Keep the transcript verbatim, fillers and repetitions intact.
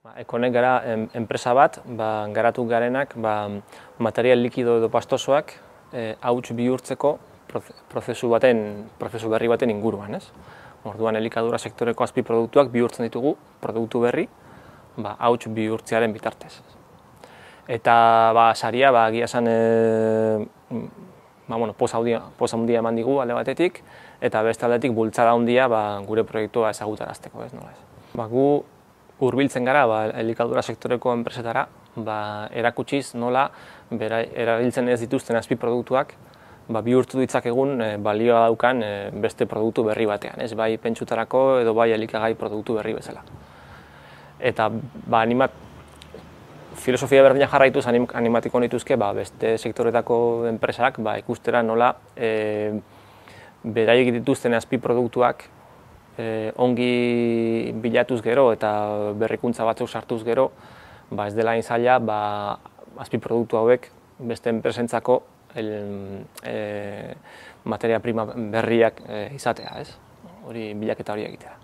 Ekonek gara en, enpresa bat, ba, garatu garenak ba, material likido edo pastosoak e, hauts bihurtzeko prozesu baten, prozesu berri baten inguruan, ez? Orduan elikadura sektoreko azpiproduktuak bihurtzen ditugu produktu berri, ba, hauts bihurtzearen bitartez. Eta ba, saria ba, egia esan e, ba, bueno, poza handia eman digu alde batetik, eta beste aldetik bultzada handia ba, gure proiektua ezagutarazteko, ez nola ez. Ba, gu hurbiltzen gara ba, elikadura sektoreko enpresetara, ba, erakutsiz nola bera, erabiltzen ez dituzten azpiproduktuak ba, bihurtu ditzakegun e, balioa daukan e, beste produktu berri batean, ez bai pentsutarako edo bai elikagai produktu berri bezala. Eta ba, animat, filosofia berdina jarraituz anim, animatiko nituzke ba, beste sektoretako enpresak ba, ikustera nola e, beraiek dituzten azpiproduktuak E, ongi bilatuz gero eta berrikuntza batzuk sartuz gero, ba ez dela hain zaila ba, azpiproduktu hauek beste enpresentzako el, e, materia prima berriak e, izatea, ez? Hori bilaketa hori egitea.